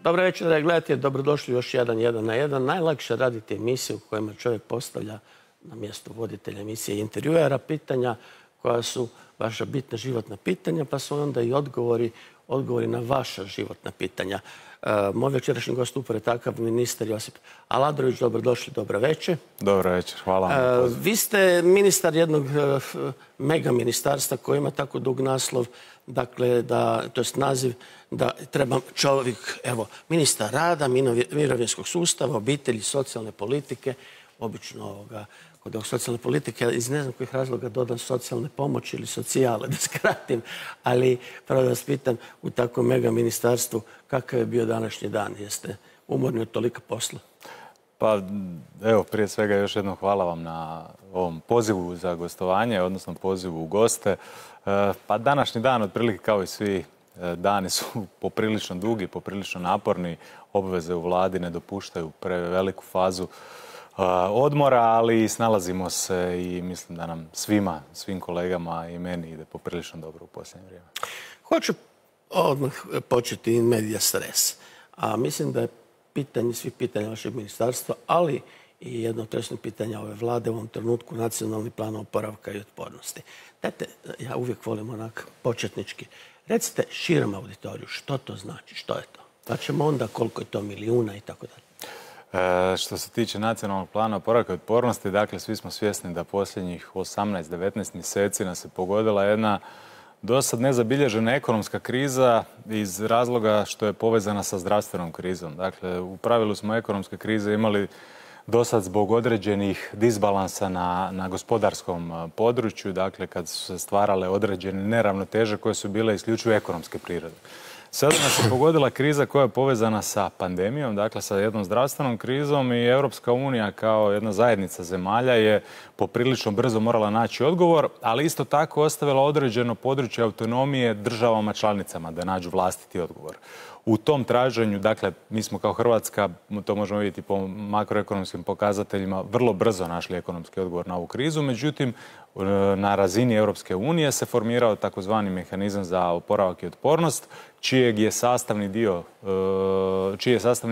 Dobro večer, gledajte, dobrodošli još jedan na jedan. Najlakše raditi emisije u kojima čovjek postavlja na mjestu voditelja emisije i intervjuera pitanja koja su vaša bitna životna pitanja, pa su onda i odgovori na vaša životna pitanja. Moj večerašnji gost upravo je takav ministar Josip Aladrović. Dobrodošli, dobro večer. Dobro večer, hvala vam. Vi ste ministar jednog mega ministarstva koji ima tako dug naslov, dakle, to je naziv da treba čovjek, evo, ministar rada, mirovinskog sustava, obitelji, socijalne politike, obično kod ovog socijalne politike, iz ne znam kojih razloga dodam socijalne pomoći ili socijale, da skratim, ali pravo da vas pitam, u takvom mega ministarstvu, kakav je bio današnji dan? Jeste umorni od tolika posla? Pa, evo, prije svega još jednom hvala vam na ovom pozivu za gostovanje, odnosno pozivu u goste. Pa današnji dan, otprilike kao i svi dani, su poprilično dugi, poprilično naporni. Obveze u vladi ne dopuštaju preveliku fazu odmora, ali snalazimo se i mislim da nam svim kolegama i meni ide poprilično dobro u posljednje vrijeme. Hoću odmah početi in medias res. A mislim da je svih pitanja vašeg ministarstva, ali i jedno od tresnih pitanja ove vlade u ovom trenutku nacionalni plan oporavka i otpornosti. Dajte, ja uvijek volim onak početnički. Recite širom auditoriju što to znači, što je to? Pa ćemo onda koliko je to milijuna i tako dalje. Što se tiče nacionalnog plana oporavka i otpornosti, dakle, svi smo svjesni da posljednjih 18-19 mjeseci nas je pogodila jedna dosad nezabilježena ekonomska kriza iz razloga što je povezana sa zdravstvenom krizom. Dakle, u pravilu smo ekonomske krize imali dosad zbog određenih disbalansa na gospodarskom području, dakle, kad su se stvarale određene neravnoteže koje su bile isključivo ekonomske prirode. Sada nas je pogodila kriza koja je povezana sa pandemijom, dakle sa jednom zdravstvenom krizom, i Europska unija kao jedna zajednica zemalja je poprilično brzo morala naći odgovor, ali isto tako ostavila određeno područje autonomije državama članicama da nađu vlastiti odgovor. U tom traženju, dakle, mi smo kao Hrvatska, to možemo vidjeti po makroekonomskim pokazateljima, vrlo brzo našli ekonomski odgovor na ovu krizu. Međutim, na razini Europske unije se formirao takozvani mehanizam za oporavak i otpornost, čiji je sastavni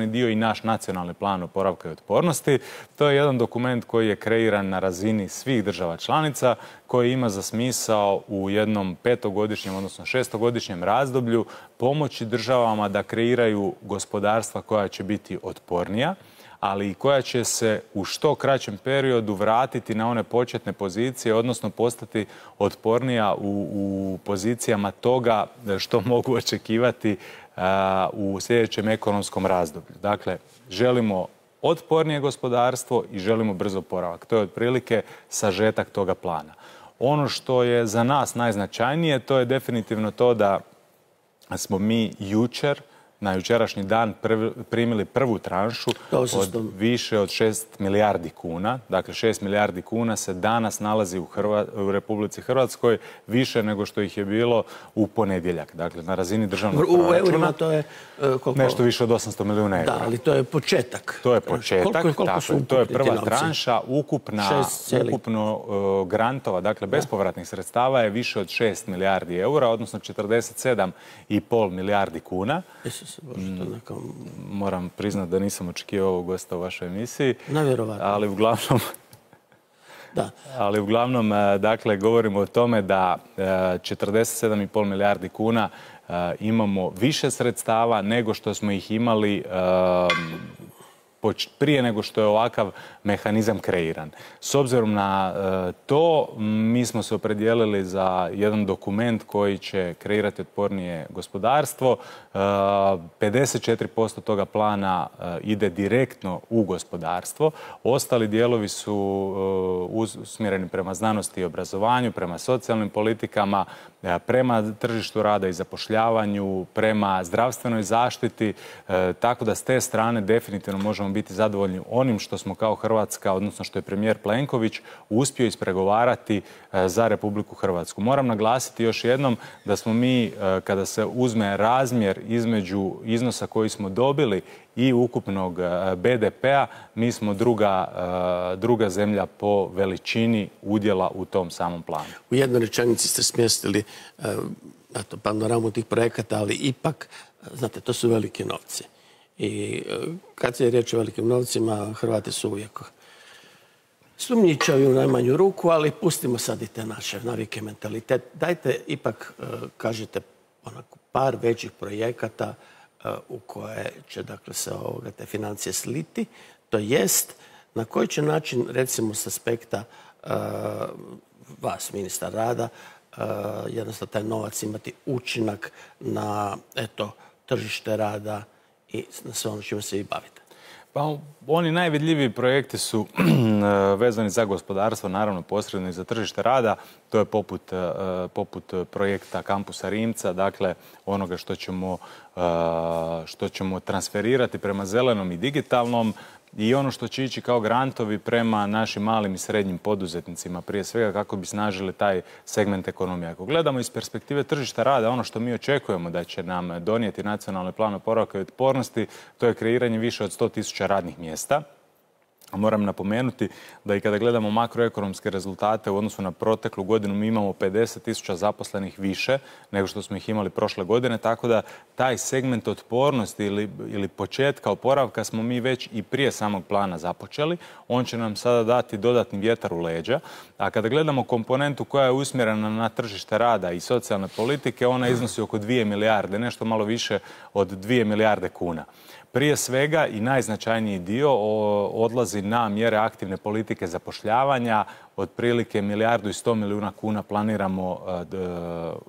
dio i naš nacionalni plan oporavka i otpornosti. To je jedan dokument koji je kreiran na razini svih država članica, koji ima za smisao u jednom 5-godišnjem, odnosno 6-godišnjem razdoblju pomoći državama da kreiraju gospodarstva koja će biti otpornija, ali i koja će se u što kraćem periodu vratiti na one početne pozicije, odnosno postati otpornija u pozicijama toga što mogu očekivati u sljedećem ekonomskom razdoblju. Dakle, želimo otpornije gospodarstvo i želimo brzo oporavak. To je otprilike sažetak toga plana. Ono što je za nas najznačajnije, to je definitivno to da smo mi na jučerašnji dan primili prvu tranšu od više od 6 milijardi kuna. Dakle, 6 milijardi kuna se danas nalazi u Republici Hrvatskoj, više nego što ih je bilo u ponedjeljak. Dakle, na razini državnog proračuna. U eurima to je koliko? Nešto više od 800 milijuna eura. Da, ali to je početak. To je početak, to je prva tranša. Ukupno grantova, dakle bespovratnih sredstava je više od 6 milijardi eura, odnosno 47,5 milijardi kuna. Moram priznati da nisam očekivao ovog gosta u vašoj emisiji. Nevjerovatno. Ali uglavnom, dakle, govorimo o tome da 47,5 milijardi kuna imamo više sredstava nego što smo ih imali prije nego što je ovakav mehanizam kreiran. S obzirom na to, mi smo se opredijelili za jedan dokument koji će kreirati otpornije gospodarstvo. 54% toga plana ide direktno u gospodarstvo. Ostali dijelovi su usmjereni prema znanosti i obrazovanju, prema socijalnim politikama, prema tržištu rada i zapošljavanju, prema zdravstvenoj zaštiti, tako da s te strane definitivno možemo biti zadovoljni onim što smo kao Hrvatska, odnosno što je premijer Plenković uspio ispregovarati za Republiku Hrvatsku. Moram naglasiti još jednom da smo mi, kada se uzme razmjer između iznosa koji smo dobili i ukupnog BDP-a, mi smo druga zemlja po veličini udjela u tom samom planu. U jednoj rečenici ste smjestili panoramu tih projekata, ali ipak, znate, to su velike novci. I kad je riječ o velikim novcima, Hrvati su uvijek sumnjičavi u najmanju ruku, ali pustimo sad i te naše navike, mentalitet. Dajte ipak, kažete, onako par većih projekata u koje će dakle se te financije sliti. To jest, na koji će način, recimo s aspekta vas, ministar rada, jednostavno taj novac imati učinak na tržište rada i na sve ono čime se i bavite? Pa oni najvidljiviji projekti su vezani za gospodarstvo, naravno posredno i za tržište rada. To je poput projekta Kampusa Rimca, dakle onoga što ćemo transferirati prema zelenom i digitalnom i ono što će ići kao grantovi prema našim malim i srednjim poduzetnicima, prije svega kako bi snažili taj segment ekonomije. Ako gledamo iz perspektive tržišta rada, ono što mi očekujemo da će nam donijeti nacionalni plan oporavka i otpornosti, to je kreiranje više od 100.000 radnih mjesta. Moram napomenuti da i kada gledamo makroekonomske rezultate u odnosu na proteklu godinu, mi imamo 50.000 zaposlenih više nego što smo ih imali prošle godine, tako da taj segment otpornosti ili početka oporavka smo mi već i prije samog plana započeli. On će nam sada dati dodatni vjetar u leđa. A kada gledamo komponentu koja je usmjerena na tržište rada i socijalne politike, ona iznosi oko 2 milijarde, nešto malo više od 2 milijarde kuna. Prije svega i najznačajniji dio odlazi na mjere aktivne politike zapošljavanja. Otprilike 1,1 milijarda kuna planiramo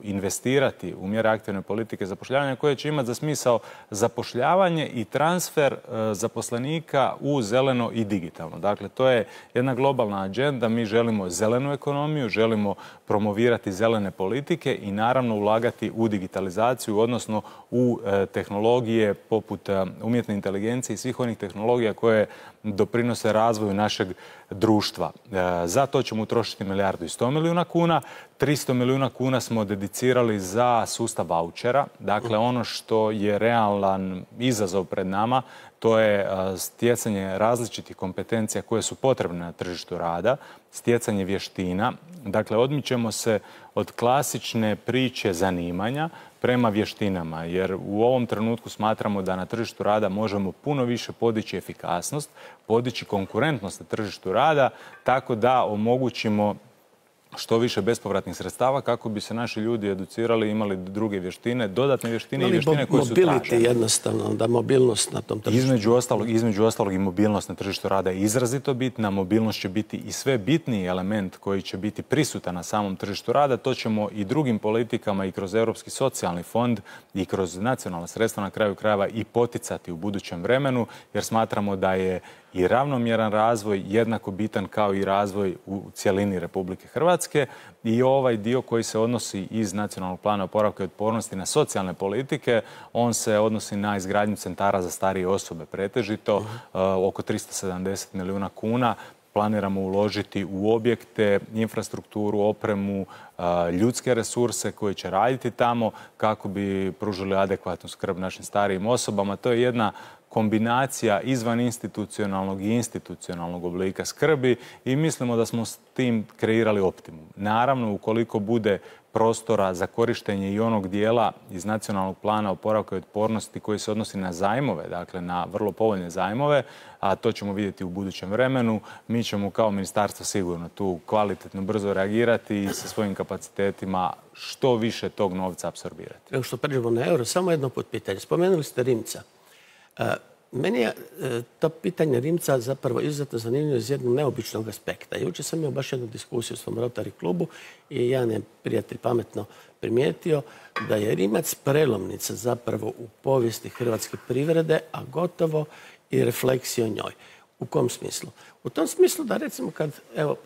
investirati u mjere aktivne politike zapošljavanja koje će imati za smisao zapošljavanje i transfer zaposlenika u zeleno i digitalno. Dakle, to je jedna globalna agenda. Mi želimo zelenu ekonomiju, želimo promovirati zelene politike i naravno ulagati u digitalizaciju, odnosno u tehnologije poput umjetne inteligencije i svih onih tehnologija koje doprinose razvoju našeg društva. Za to ćemo utrošiti 1,1 milijarda kuna. 300 milijuna kuna smo dedicirali za sustav vaučera. Dakle, ono što je realan izazov pred nama, to je stjecanje različitih kompetencija koje su potrebne na tržištu rada, stjecanje vještina. Dakle, odmičemo se od klasične priče zanimanja prema vještinama, jer u ovom trenutku smatramo da na tržištu rada možemo puno više podići efikasnost, podići konkurentnost na tržištu rada, tako da omogućimo što više bespovratnih sredstava kako bi se naši ljudi educirali, imali druge vještine, dodatne vještine i vještine koje su tražene. Mobility jednostavno, da mobilnost na tom tržištu. Između ostalog i mobilnost na tržištu rada je izrazito bitna. Mobilnost će biti i sve bitniji element koji će biti prisutan na samom tržištu rada. To ćemo i drugim politikama i kroz Europski socijalni fond i kroz nacionalna sredstva na kraju krajeva i poticati u budućem vremenu, jer smatramo da je i ravnomjeran razvoj jednako bitan kao i razvoj u cjelini Republike Hrvatske. I ovaj dio koji se odnosi iz nacionalnog plana oporavka i otpornosti na socijalne politike, on se odnosi na izgradnju centara za starije osobe pretežito, oko 370 milijuna kuna. Planiramo uložiti u objekte, infrastrukturu, opremu, ljudske resurse koji će raditi tamo kako bi pružili adekvatnu skrb našim starijim osobama. To je jedna kombinacija izvan institucionalnog i institucionalnog oblika skrbi i mislimo da smo s tim kreirali optimum. Naravno, ukoliko bude prostora za korištenje i onog dijela iz nacionalnog plana oporavka i otpornosti koji se odnosi na zajmove, dakle na vrlo povoljne zajmove, a to ćemo vidjeti u budućem vremenu, mi ćemo kao ministarstvo sigurno tu kvalitetno brzo reagirati i sa svojim kapacitetima što više tog novca apsorbirati. Nego što pređemo na euro, samo jedno pitanje. Spomenuli ste Rimca. Meni je to pitanje Rimca zapravo izuzetno zanimljivo iz jednog neobičnog aspekta. Jučer sam imao baš jednu diskusiju u svom Rotary klubu i jedan je prijatelj pametno primijetio da je Rimac prelomnica zapravo u povijesti hrvatske privrede, a gotovo i refleksija o njoj. U kom smislu? U tom smislu da recimo kad, evo,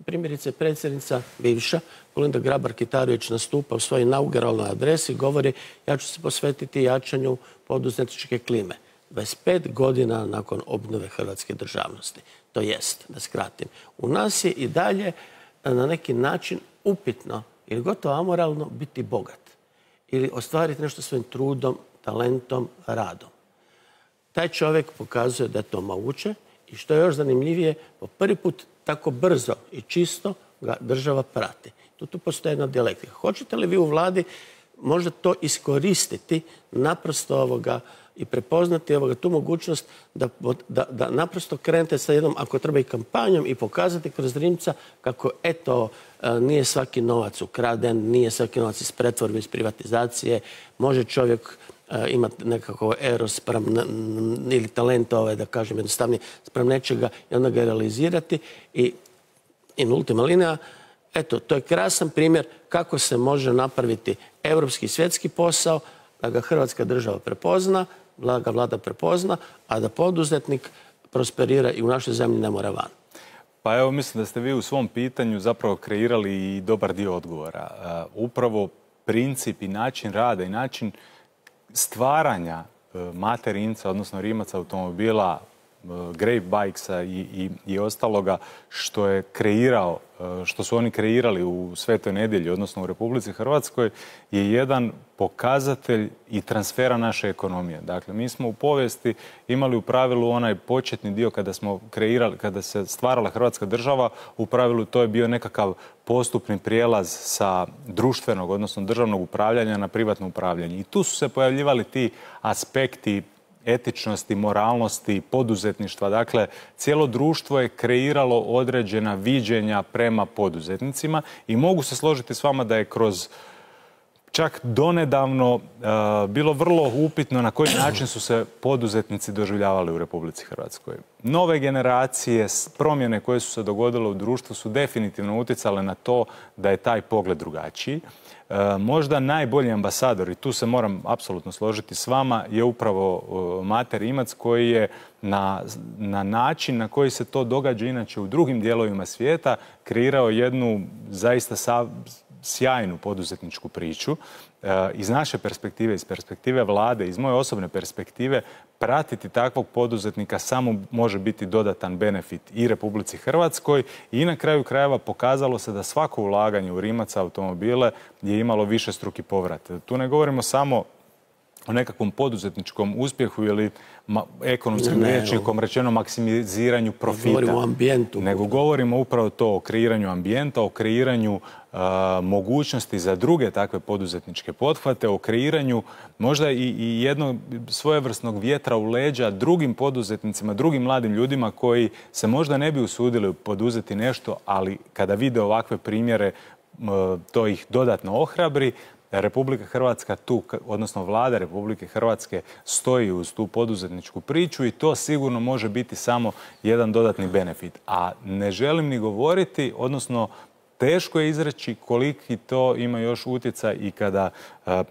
primjerice predsjednica bivša, Kolinda Grabar-Kitarović nastupa u svojoj inauguralnoj adresi, govori ja ću se posvetiti jačanju poduzetničke klime. 25 godina nakon obnove hrvatske državnosti. To jest, da skratim, u nas je i dalje na neki način upitno ili gotovo amoralno biti bogat ili ostvariti nešto svojim trudom, talentom, radom. Taj čovjek pokazuje da je to moguće i što je još zanimljivije, po prvi put tako brzo i čisto ga država prati. Tu postoji jedna dijalektika. Hoćete li vi u vladi možda to iskoristiti naprosto i prepoznati tu mogućnost da naprosto krenete sa jednom, ako treba i kampanjom, i pokazati kroz Rimca kako eto, nije svaki novac ukraden, nije svaki novac iz pretvorbe, iz privatizacije, može čovjek imati nekako eros ili talent, da kažem jednostavnije, sprem nečega i onda ga realizirati. I in ultima linea, eto, to je krasan primjer kako se može napraviti europski i svjetski posao, da ga Hrvatska država prepozna, da ga vlada prepozna, a da poduzetnik prosperira i u našoj zemlji ne mora van. Pa evo, mislim da ste vi u svom pitanju zapravo kreirali i dobar dio odgovora. Upravo princip i način rada i način stvaranja Mate Rimca, odnosno Rimac automobila, Grape Bikesa i ostaloga što je kreirao, što su oni kreirali u Svetoj Nedjelji, odnosno u Republici Hrvatskoj, je jedan pokazatelj i transfera naše ekonomije. Dakle, mi smo u povijesti imali u pravilu onaj početni dio kada smo kreirali, kada se stvarala Hrvatska država, u pravilu to je bio nekakav postupni prijelaz sa društvenog, odnosno državnog upravljanja na privatno upravljanje. I tu su se pojavljivali ti aspekti etičnosti, moralnosti, poduzetništva. Dakle, cijelo društvo je kreiralo određena viđenja prema poduzetnicima i mogu se složiti s vama da je kroz čak donedavno bilo vrlo upitno na koji način su se poduzetnici doživljavali u Republici Hrvatskoj. Nove generacije, promjene koje su se dogodile u društvu su definitivno utjecale na to da je taj pogled drugačiji. Možda najbolji ambasador, i tu se moram apsolutno složiti s vama, je upravo Mate Rimac, koji je na način na koji se to događa inače u drugim dijelovima svijeta kreirao jednu zaista sjajnu poduzetničku priču. Iz naše perspektive, iz perspektive vlade, iz moje osobne perspektive, pratiti takvog poduzetnika samo može biti dodatan benefit i Republici Hrvatskoj i na kraju krajeva pokazalo se da svako ulaganje u Rimac automobile je imalo višestruki povrat. Tu ne govorimo samo o nekakvom poduzetničkom uspjehu ili ekonomskim rječnikom rečeno maksimiziranju profita. Govorimo o ambijentu. Nego govorimo upravo to o kreiranju ambijenta, o kreiranju mogućnosti za druge takve poduzetničke pothvate, o kreiranju možda i jednog svojevrsnog vjetra u leđa drugim poduzetnicima, drugim mladim ljudima koji se možda ne bi usudili poduzeti nešto, ali kada vide ovakve primjere to ih dodatno ohrabri. Republika Hrvatska tu, odnosno vlada Republike Hrvatske stoji uz tu poduzetničku priču i to sigurno može biti samo jedan dodatni benefit. A ne želim ni govoriti, odnosno teško je izreći koliki to ima još utjecaj i kada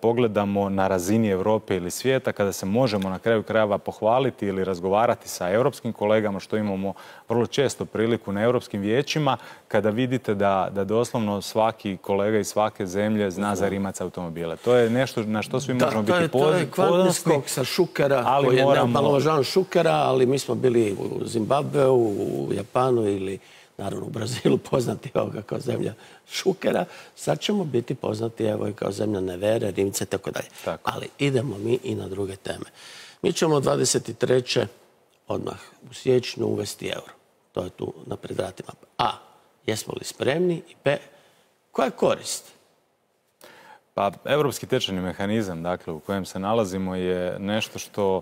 pogledamo na razini Europe ili svijeta, kada se možemo na kraju krajeva pohvaliti ili razgovarati sa europskim kolegama, što imamo vrlo često priliku na europskim vijećima, kada vidite da doslovno svaki kolega iz svake zemlje zna za Rimac automobile. To je nešto na što svi možemo biti ponosni. To je kvantni skok sa Šukera, koji je omalovažavan Šukera, ali mi smo bili u Zimbabveu, u Japanu ili naravno u Brazilu poznati kao zemlja Šukera. Sad ćemo biti poznati evo i kao zemlja Nevere, Rimca i tako dalje. Ali idemo mi i na druge teme. Mi ćemo 23. odmah u siječnju uvesti euro. To je tu na predvratima. A, jesmo li spremni? I B, koja je korist? Pa, europski tečajni mehanizam, dakle, u kojem se nalazimo je nešto što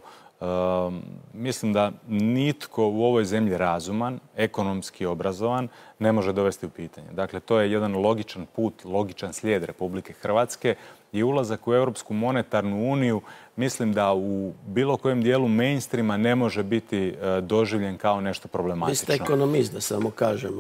mislim da nitko u ovoj zemlji razuman, ekonomski obrazovan, ne može dovesti u pitanje. Dakle, to je jedan logičan put, logičan slijed Republike Hrvatske i ulazak u Europsku monetarnu uniju, mislim da u bilo kojem dijelu mainstreama ne može biti doživljen kao nešto problematično. Vi ste ekonomist, da samo kažem.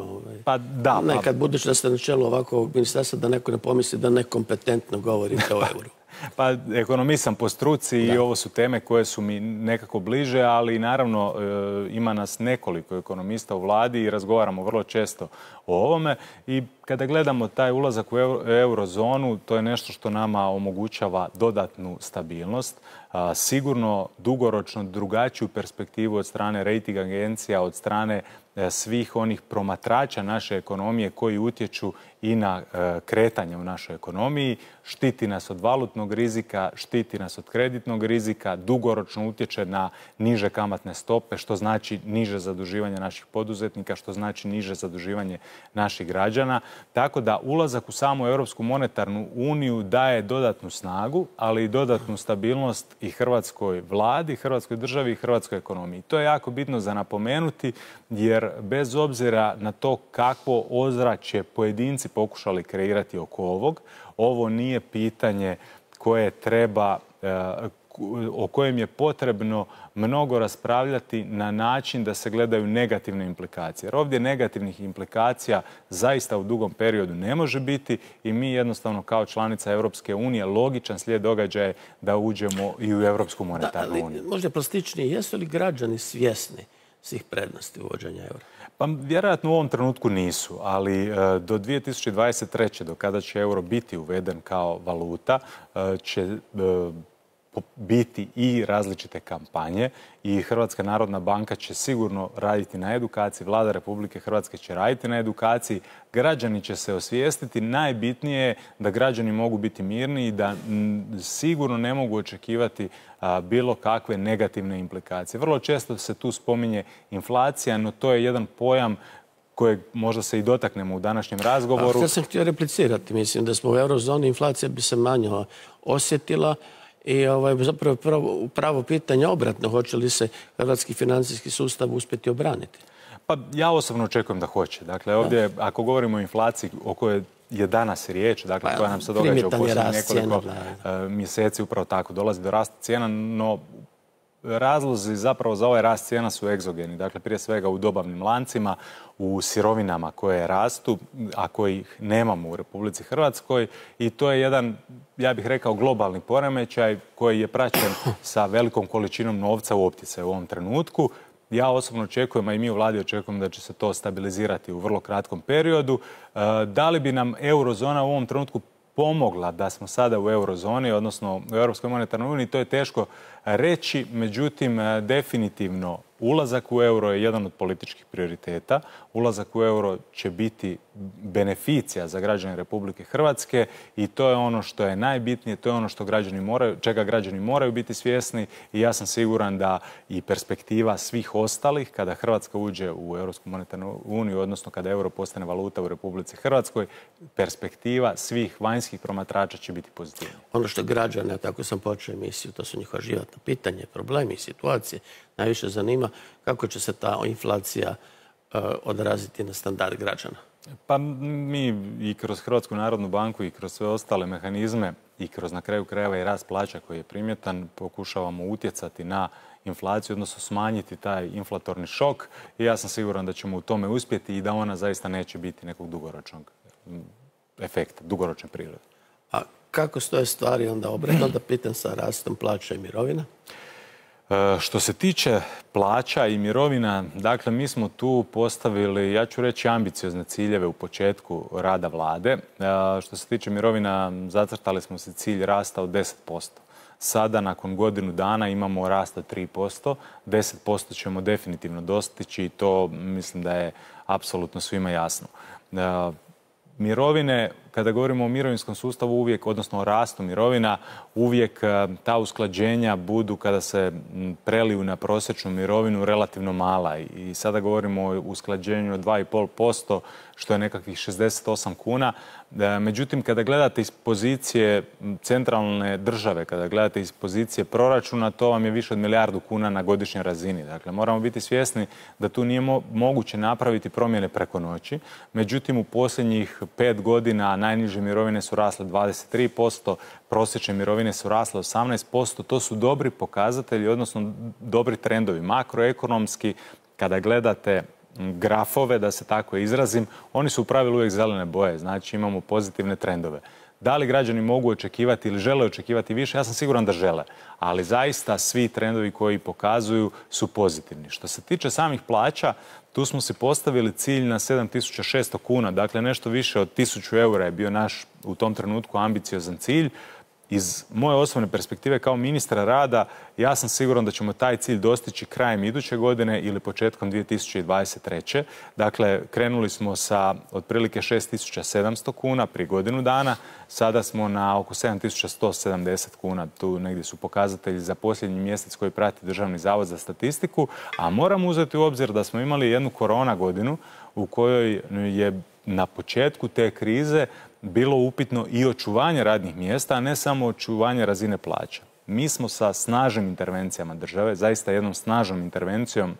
Pa da. Nekad budući da ste na čelu ovakvog ministarstva, da neko ne pomisli da nekompetentno govorite o euru. Pa, ekonomist sam po struci i ovo su teme koje su mi nekako bliže, ali naravno ima nas nekoliko ekonomista u vladi i razgovaramo vrlo često o ovome. I kada gledamo taj ulazak u eurozonu, to je nešto što nama omogućava dodatnu stabilnost, sigurno dugoročno drugačiju perspektivu od strane rating agencija, od strane svih onih promatrača naše ekonomije koji utječu i na kretanje u našoj ekonomiji, štiti nas od valutnog rizika, štiti nas od kreditnog rizika, dugoročno utječe na niže kamatne stope, što znači niže zaduživanje naših poduzetnika, što znači niže zaduživanje naših građana. Tako da ulazak u samu Europsku monetarnu uniju daje dodatnu snagu, ali i dodatnu stabilnost i hrvatskoj vladi, hrvatskoj državi i hrvatskoj ekonomiji. To je jako bitno za napomenuti, jer bez obzira na to kakvo ozračje pojedinci pokušali kreirati oko ovog, ovo nije pitanje koje treba, o kojem je potrebno mnogo raspravljati na način da se gledaju negativne implikacije. Jer ovdje negativnih implikacija zaista u dugom periodu ne može biti i mi jednostavno kao članica Europske unije logičan slijed događaja je da uđemo i u Europsku monetarnu uniju. Možda plastičnije, jesu li građani svjesni svih prednosti uvođenja eura? Pa vjerojatno u ovom trenutku nisu, ali do 2023. do kada će euro biti uveden kao valuta, će biti i različite kampanje i Hrvatska narodna banka će sigurno raditi na edukaciji, Vlada Republike Hrvatske će raditi na edukaciji, građani će se osvijestiti. Najbitnije je da građani mogu biti mirni i da sigurno ne mogu očekivati bilo kakve negativne implikacije. Vrlo često se tu spominje inflacija, no to je jedan pojam kojeg možda se i dotaknemo u današnjem razgovoru. Ja sam htio replicirati, mislim da smo u eurozoni, inflacija bi se manje osjetila. I zapravo pravo pitanje obratno, hoće li se hrvatski financijski sustav uspjeti obraniti? Pa ja osobno očekujem da hoće. Dakle, ovdje, ako govorimo o inflaciji o kojoj je danas riječ, dakle, koja nam se događa u posljednjih nekoliko mjeseci, upravo tako, dolazi do rasta cijena, no razlozi zapravo za ovaj rast cijena su egzogeni. Dakle, prije svega u dobavnim lancima, u sirovinama koje rastu, a kojih nemamo u Republici Hrvatskoj. I to je jedan, ja bih rekao, globalni poremećaj koji je praćen sa velikom količinom novca u opticaju u ovom trenutku. Ja osobno očekujem, a i mi u vladi očekujemo da će se to stabilizirati u vrlo kratkom periodu. Da li bi nam eurozona u ovom trenutku pomogla da smo sada u eurozoni, odnosno u Europskoj monetarnoj uniji, to je teško reći, međutim, definitivno ulazak u euro je jedan od političkih prioriteta. Ulazak u euro će biti beneficija za građane Republike Hrvatske i to je ono što je najbitnije, to je ono što čega građani moraju biti svjesni i ja sam siguran da i perspektiva svih ostalih kada Hrvatska uđe u Europsku monetarnu uniju, odnosno kada euro postane valuta u Republici Hrvatskoj, perspektiva svih vanjskih promatrača će biti pozitivna. Ono što građane, tako sam počeo emisiju, to su njihova životna pitanja, problemi, situacije, najviše zanima kako će se ta inflacija odraziti na standard građana. Pa mi i kroz Hrvatsku narodnu banku i kroz sve ostale mehanizme i kroz na kraju krajeva i rast plaća koji je primjetan pokušavamo utjecati na inflaciju, odnosno smanjiti taj inflatorni šok i ja sam siguran da ćemo u tome uspjeti i da ona zaista neće biti nekog dugoročnog efekta, dugoročne prirode. A kako stoje stvari onda obratno, da pitam, sa rastom plaća i mirovina? Što se tiče plaća i mirovina, dakle, mi smo tu postavili, ja ću reći, ambiciozne ciljeve u početku rada vlade. Što se tiče mirovina, zacrtali smo se cilj rasta od 10%. Sada, nakon godinu dana, imamo rast od 3%. 10% ćemo definitivno dostići i to mislim da je apsolutno svima jasno. Mirovine, kada govorimo o mirovinskom sustavu uvijek, odnosno o rastu mirovina, uvijek ta usklađenja budu kada se preliju na prosječnu mirovinu relativno mala. I sada govorimo o usklađenju od 2,5%, što je nekakvih 68 kuna. Međutim, kada gledate iz pozicije centralne države, kada gledate iz pozicije proračuna, to vam je više od milijardu kuna na godišnjoj razini. Dakle, moramo biti svjesni da tu nije moguće napraviti promjene preko noći. Međutim, u posljednjih 5 godina najniže mirovine su rasle 23%, prosječne mirovine su rasle 18%. To su dobri pokazatelji, odnosno dobri trendovi. Makroekonomski, kada gledate grafove, da se tako izrazim, oni su u pravilu uvijek zelene boje, znači imamo pozitivne trendove. Da li građani mogu očekivati ili žele očekivati više? Ja sam siguran da žele, ali zaista svi trendovi koji pokazuju su pozitivni. Što se tiče samih plaća, tu smo si postavili cilj na 7.600 kuna, dakle nešto više od 1.000 eura je bio naš u tom trenutku ambiciozan cilj. Iz moje osobne perspektive kao ministra rada, ja sam siguran da ćemo taj cilj dostići krajem iduće godine ili početkom 2023. Dakle, krenuli smo sa otprilike 6.700 kuna prije godinu dana, sada smo na oko 7.170 kuna, tu negdje su pokazatelji za posljednji mjesec koji prati Državni zavod za statistiku, a moramo uzeti u obzir da smo imali jednu korona godinu u kojoj je na početku te krize bilo upitno i očuvanje radnih mjesta, a ne samo očuvanje razine plaća. Mi smo sa snažnim intervencijama države, zaista jednom snažnom intervencijom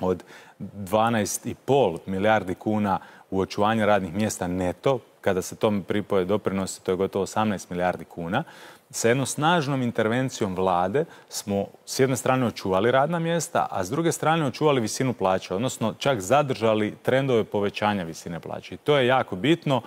od 12,5 milijardi kuna u očuvanje radnih mjesta neto, kada se tome pripoje doprinosi, to je gotovo 18 milijardi kuna. Sa jednom snažnom intervencijom vlade smo s jedne strane očuvali radna mjesta, a s druge strane očuvali visinu plaća, odnosno čak zadržali trendove povećanja visine plaća. I to je jako bitno,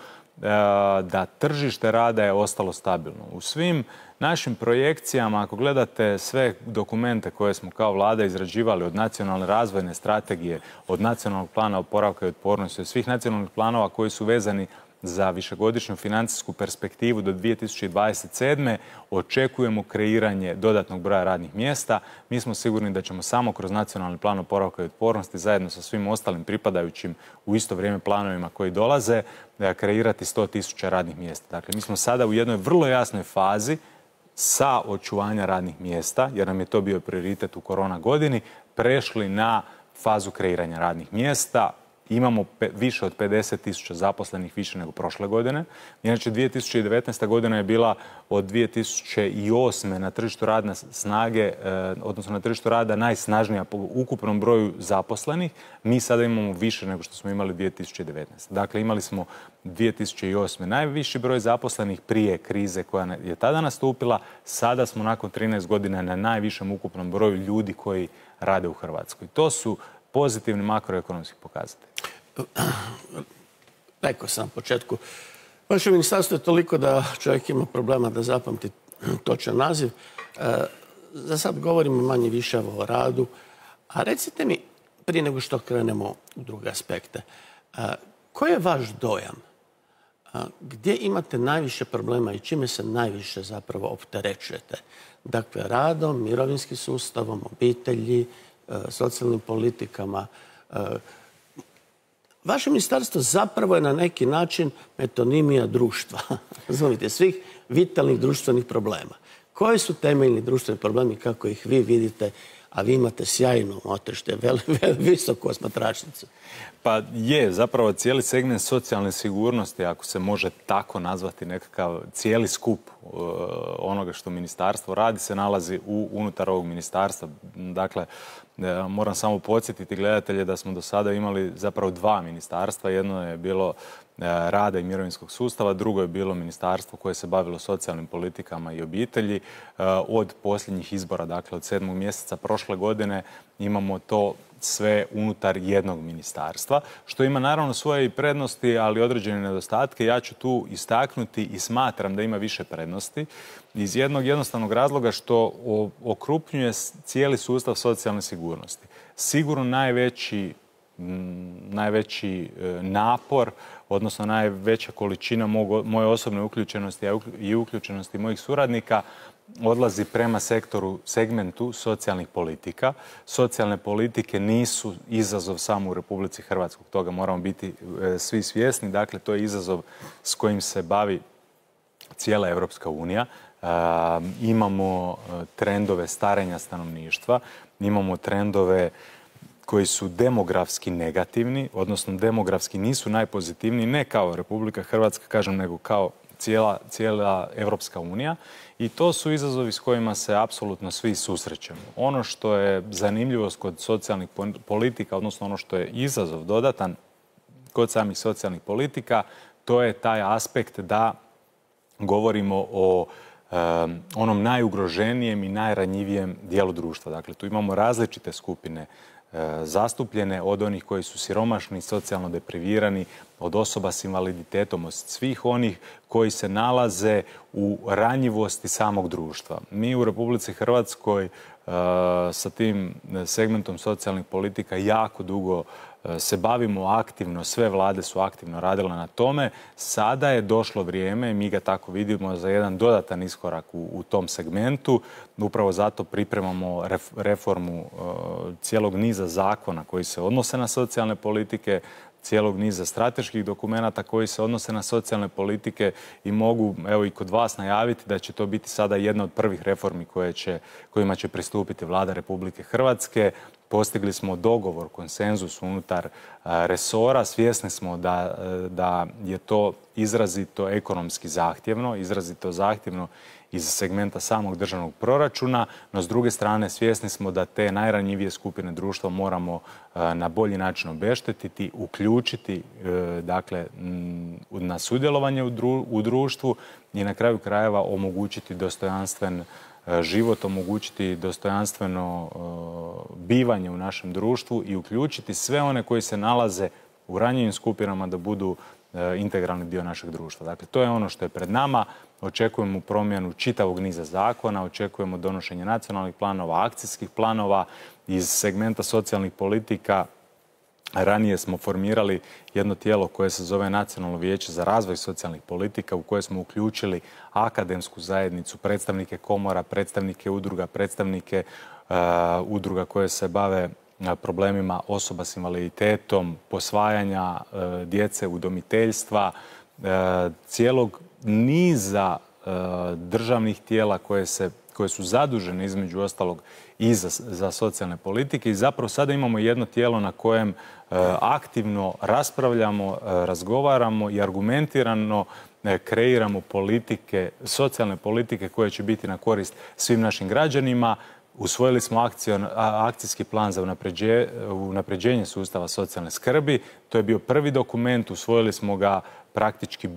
da tržište rada je ostalo stabilno. U svim našim projekcijama, ako gledate sve dokumente koje smo kao vlada izrađivali, od nacionalne razvojne strategije, od nacionalnog plana oporavka i otpornosti, od svih nacionalnih planova koji su vezani za višegodišnju financijsku perspektivu do 2027. očekujemo kreiranje dodatnog broja radnih mjesta. Mi smo sigurni da ćemo samo kroz nacionalni plan oporavka i otpornosti zajedno sa svim ostalim pripadajućim u isto vrijeme planovima koji dolaze kreirati 100.000 radnih mjesta. Dakle, mi smo sada u jednoj vrlo jasnoj fazi sa očuvanja radnih mjesta, jer nam je to bio prioritet u korona godini, prešli na fazu kreiranja radnih mjesta. Imamo više od 50.000 zaposlenih više nego prošle godine. Inače, 2019. godina je bila od 2008. na tržištu radne snage, odnosno na tržištu rada najsnažnija po ukupnom broju zaposlenih. Mi sada imamo više nego što smo imali 2019. Dakle, imali smo 2008. najviši broj zaposlenih prije krize koja je tada nastupila. Sada smo nakon 13 godina na najvišem ukupnom broju ljudi koji rade u Hrvatskoj. To su pozitivni makroekonomski pokazatelji. Rekao sam na početku, vaše ministarstvo je toliko da čovjek ima problema da zapamti točan naziv. Za sad govorimo manje više o radu. A recite mi, prije nego što krenemo u druge aspekte, koji je vaš dojam? Gdje imate najviše problema i čime se najviše zapravo opterećujete? Dakle, radom, mirovinskim sustavom, obitelji, socijalnim politikama. Vaše ministarstvo zapravo je na neki način metonimija društva. Razumite, svih vitalnih društvenih problema. Koji su temeljni društveni problemi, kako ih vi vidite, a vi imate sjajnu motrište, visoku osmatračnicu? Pa je, zapravo cijeli segment socijalne sigurnosti, ako se može tako nazvati nekakav cijeli skup onoga što ministarstvo radi, se nalazi unutar ovog ministarstva. Dakle, moram samo podsjetiti gledatelje da smo do sada imali zapravo dva ministarstva. Jedno je bilo rada i mirovinskog sustava, drugo je bilo ministarstvo koje se bavilo socijalnim politikama i obitelji. Od posljednjih izbora, dakle od 7. mjeseca prošle godine, imamo to sve unutar jednog ministarstva, što ima naravno svoje i prednosti, ali određene nedostatke. Ja ću tu istaknuti i smatram da ima više prednosti iz jednog jednostavnog razloga što okrupnjuje cijeli sustav socijalne sigurnosti. Sigurno najveći napor, odnosno najveća količina moje osobne uključenosti i uključenosti mojih suradnika odlazi prema segmentu socijalnih politika. Socijalne politike nisu izazov samo u Republici Hrvatskoj, toga moramo biti svi svjesni. Dakle, to je izazov s kojim se bavi cijela Europska unija. Imamo trendove starenja stanovništva, imamo trendove koji su demografski negativni, odnosno demografski nisu najpozitivniji, ne kao Republika Hrvatska, kažem, nego kao cijela Europska unija. I to su izazovi s kojima se apsolutno svi susrećemo. Ono što je zanimljivost kod socijalnih politika, odnosno ono što je izazov dodatan kod samih socijalnih politika, to je taj aspekt da govorimo o onom najugroženijem i najranjivijem dijelu društva. Dakle, tu imamo različite skupine zastupljene, od onih koji su siromašni, socijalno deprivirani, od osoba s invaliditetom, od svih onih koji se nalaze u ranjivosti samog društva. Mi u Republici Hrvatskoj sa tim segmentom socijalnih politika jako dugo se bavimo aktivno, sve vlade su aktivno radile na tome. Sada je došlo vrijeme, mi ga tako vidimo, za jedan dodatan iskorak u tom segmentu. Upravo zato pripremamo reformu cijelog niza zakona koji se odnose na socijalne politike, cijelog niza strateških dokumenata koji se odnose na socijalne politike i mogu, evo i kod vas, najaviti da će to biti sada jedna od prvih reformi kojima će pristupiti Vlada Republike Hrvatske. postigli smo dogovor, konsenzus unutar resora. Svjesni smo da je to izrazito ekonomski zahtjevno, izrazito zahtjevno iz segmenta samog državnog proračuna, no s druge strane svjesni smo da te najranjivije skupine društva moramo na bolji način obeštetiti, uključiti dakle, na sudjelovanje u društvu i na kraju krajeva omogućiti dostojanstven život, omogućiti dostojanstveno bivanje u našem društvu i uključiti sve one koji se nalaze u ranjivim skupinama da budu integralni dio našeg društva. Dakle, to je ono što je pred nama. Očekujemo promjenu čitavog niza zakona, očekujemo donošenje nacionalnih planova, akcijskih planova iz segmenta socijalnih politika. Ranije smo formirali jedno tijelo koje se zove Nacionalno vijeće za razvoj socijalnih politika u koje smo uključili akademsku zajednicu, predstavnike komora, predstavnike udruga, predstavnike udruga koje se bave problemima osoba s invaliditetom, posvajanja djece, udomiteljstva, cijelog niza državnih tijela koje su zadužene između ostalog i za socijalne politike i zapravo sada imamo jedno tijelo na kojem aktivno raspravljamo, razgovaramo i argumentirano kreiramo politike, socijalne politike koje će biti na korist svim našim građanima. Usvojili smo akcijski plan za unapređenje sustava socijalne skrbi. To je bio prvi dokument, usvojili smo ga praktički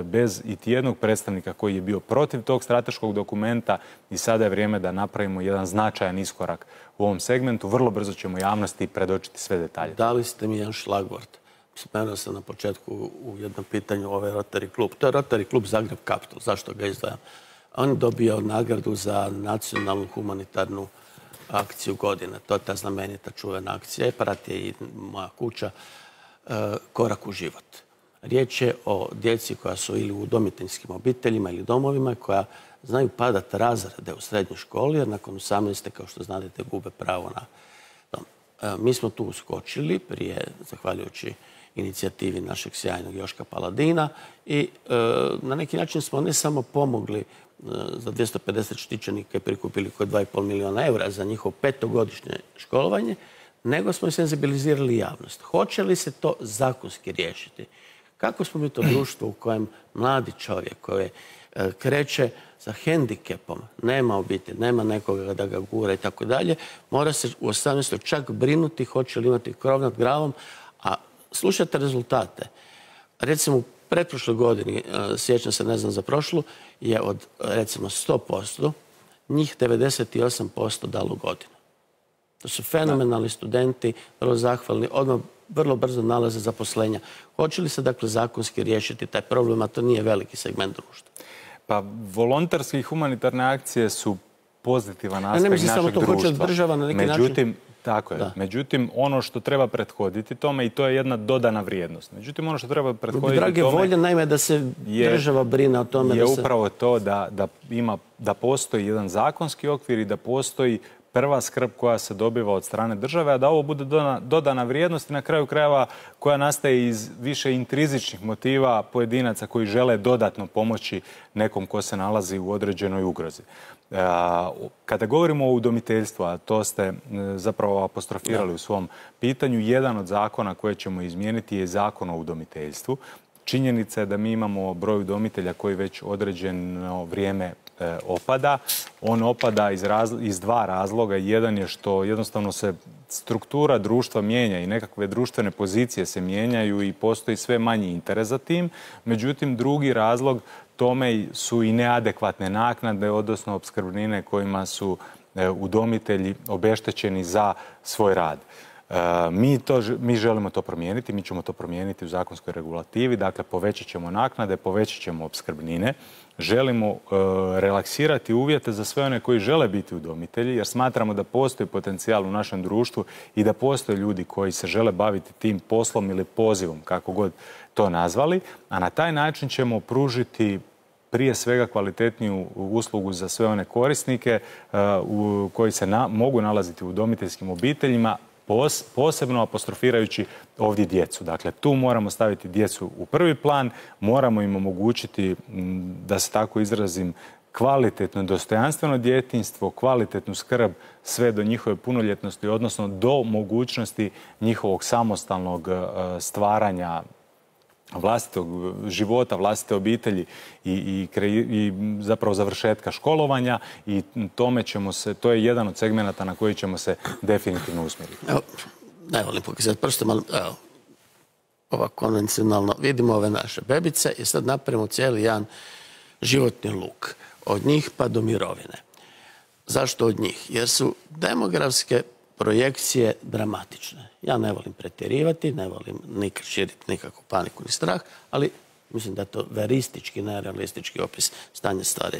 bez iti jednog predstavnika koji je bio protiv tog strateškog dokumenta i sada je vrijeme da napravimo jedan značajan iskorak u ovom segmentu. Vrlo brzo ćemo javnosti predočiti sve detalje. Dali ste mi jedan šlagvort. Spomenuo sam na početku u jednom pitanju ovaj Rotary klub. To je Rotary klub Zagreb Capital. Zašto ga izdvajam? On je dobio nagradu za nacionalnu humanitarnu akciju godine. To je ta znamenita čuvena akcija. Prati je i moja kuća Korak u život. Riječ je o djeci koja su ili u udomiteljskim obiteljima ili domovima koja znaju padati razrede u srednjoj školi jer nakon 18. kao što znate gube pravo na dom. Mi smo tu uskočili prije, zahvaljujući inicijativi našeg sjajnog Joška Paladina i na neki način smo ne samo pomogli za 250 štićenika i prikupili oko 2,5 milijuna eura za njihovo 5-godišnje školovanje, nego smo senzibilizirali javnost. Hoće li se to zakonski riješiti? Kako smo mi to društvo u kojem mladi čovjek koji kreće sa hendikepom, nema obitelj, nema nekoga da ga gura i tako dalje, mora se u 18. čak brinuti hoće li imati krov nad glavom, a slušajte rezultate. Recimo u pretprošloj godini, sjećam se, ne znam za prošlu, je od recimo 100%, njih 98% dalo godinu. To su fenomenalni studenti, vrlo zahvalni, odmah vrlo brzo nalaze zaposlenja. Hoće li se dakle zakonski riješiti taj problem, a to nije veliki segment društva? Pa volonterske i humanitarne akcije su pozitivan aspekt našeg društva. Ne mislim samo to, hoće država na neki način. Tako je. Međutim, ono što treba prethoditi tome, i to je jedna dodana vrijednost. Međutim, ono što treba prethoditi tome... Drage volje, naime, da se država brine o tome... Je upravo to da postoji jedan zakonski okvir i da postoji prva skrb koja se dobiva od strane države, a da ovo bude dodana vrijednost i na kraju krajeva koja nastaje iz više intrizičnih motiva pojedinaca koji žele dodatno pomoći nekom ko se nalazi u određenoj ugrozi. Kada govorimo o udomiteljstvu, a to ste zapravo apostrofirali u svom pitanju, jedan od zakona koje ćemo izmijeniti je Zakon o udomiteljstvu. Činjenica je da mi imamo broj udomitelja koji već određeno vrijeme opada. On opada iz dva razloga. Jedan je što jednostavno se struktura društva mijenja i nekakve društvene pozicije se mijenjaju i postoji sve manji interes za tim. Međutim, drugi razlog tome su i neadekvatne naknade, odnosno opskrbnine kojima su udomitelji obeštećeni za svoj rad. Mi želimo to promijeniti, mi ćemo to promijeniti u zakonskoj regulativi, dakle povećat ćemo naknade, povećat ćemo opskrbnine. Želimo relaksirati uvjete za sve one koji žele biti udomitelji, jer smatramo da postoji potencijal u našem društvu i da postoje ljudi koji se žele baviti tim poslom ili pozivom, kako god to nazvali, a na taj način ćemo pružiti prije svega kvalitetniju uslugu za sve one korisnike koji se mogu nalaziti u udomiteljskim obiteljima, posebno apostrofirajući ovdje djecu. Dakle, tu moramo staviti djecu u prvi plan, moramo im omogućiti, da se tako izrazim, kvalitetno, dostojanstveno djetinjstvo, kvalitetnu skrb sve do njihove punoljetnosti, odnosno do mogućnosti njihovog samostalnog stvaranja vlastitog života, vlastite obitelji i zapravo završetka školovanja i to je jedan od segmenata na koji ćemo se definitivno usmjeriti. Evo, ne volim pokazati prstom, ali evo, ovako konvencionalno vidimo ove naše bebice i sad napravimo cijeli jedan životni luk. Od njih pa do mirovine. Zašto od njih? Jer su demografske projekcije dramatične. Ja ne volim pretjerivati, ne volim nikad širiti nikakvu paniku ni strah, ali mislim da je to veristički, nerealistički opis stanja stvari.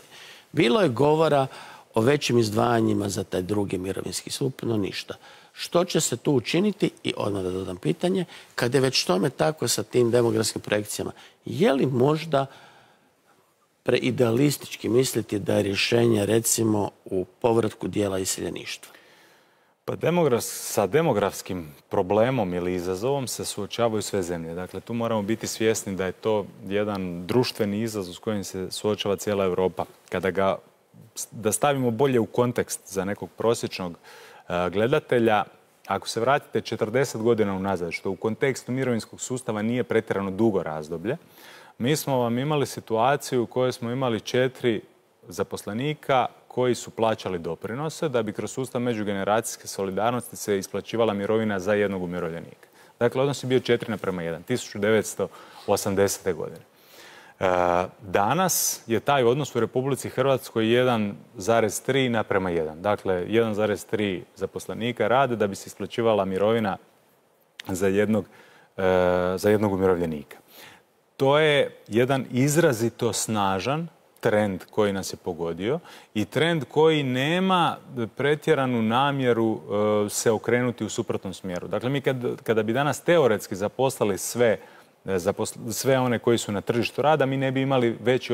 Bilo je govora o većim izdvajanjima za taj drugi mirovinski stup, no ništa. Što će se tu učiniti, i odmah da dodam pitanje, kad je već tome tako sa tim demografskim projekcijama, je li možda preidealistički misliti da je rješenje, recimo, u povratku dijela iseljeništva? Pa sa demografskim problemom ili izazovom se suočavaju sve zemlje. Dakle, tu moramo biti svjesni da je to jedan društveni izazov s kojim se suočava cijela Europa. Da stavimo bolje u kontekst za nekog prosječnog gledatelja, ako se vratite 40 godina unazad, što u kontekstu mirovinskog sustava nije pretjerano dugo razdoblje, mi smo vam imali situaciju u kojoj smo imali 4 zaposlenika koji su plaćali doprinose da bi kroz sustav međugeneracijske solidarnosti se isplaćivala mirovina za jednog umirovljenika. Dakle, odnos je bio 4:1, 1980. godine. Danas je taj odnos u Republici Hrvatskoj 1,3:1. Dakle, 1,3 zaposlenika rade da bi se isplaćivala mirovina za jednog umirovljenika. To je jedan izrazito snažan trend koji nas je pogodio i trend koji nema pretjeranu namjeru se okrenuti u suprotnom smjeru. Dakle, mi kada bi danas teoretski zaposlali sve one koji su na tržištu rada, mi ne bi imali veći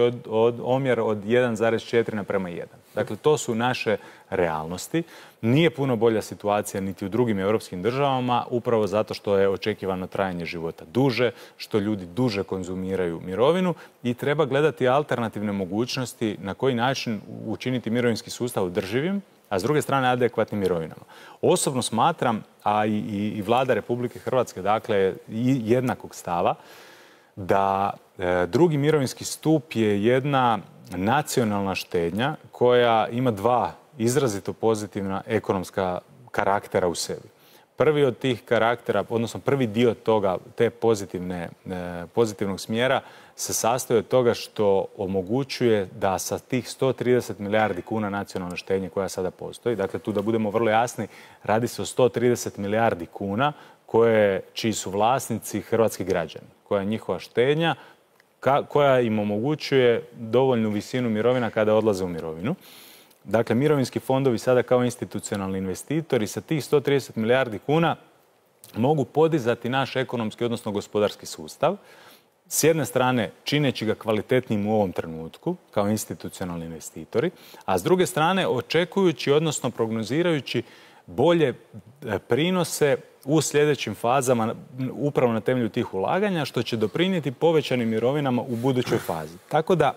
omjer od 1,4:1. Dakle, to su naše realnosti. Nije puno bolja situacija niti u drugim europskim državama, upravo zato što je očekivano trajanje života duže, što ljudi duže konzumiraju mirovinu i treba gledati alternativne mogućnosti na koji način učiniti mirovinski sustav održivim, a s druge strane adekvatnim mirovinama. Osobno smatram, a i Vlada Republike Hrvatske, dakle, jednakog stava, da drugi mirovinski stup je jedna nacionalna štednja koja ima 2 izrazito pozitivna ekonomska karaktera u sebi. Prvi od tih karaktera, odnosno prvi dio toga, te pozitivnog smjera se sastoji od toga što omogućuje da sa tih 130 milijardi kuna nacionalne štednje koja sada postoji, dakle tu da budemo vrlo jasni, radi se o 130 milijardi kuna čiji su vlasnici hrvatski građani, koja je njihova štednja, koja im omogućuje dovoljnu visinu mirovina kada odlaze u mirovinu. Dakle, mirovinski fondovi sada kao institucionalni investitori sa tih 130 milijardi kuna mogu podizati naš ekonomski, odnosno gospodarski sustav. S jedne strane, čineći ga kvalitetnim u ovom trenutku, kao institucionalni investitori, a s druge strane, očekujući, odnosno prognozirajući bolje prinose u sljedećim fazama upravo na temelju tih ulaganja, što će doprinijeti povećanim mirovinama u budućoj fazi. Tako da,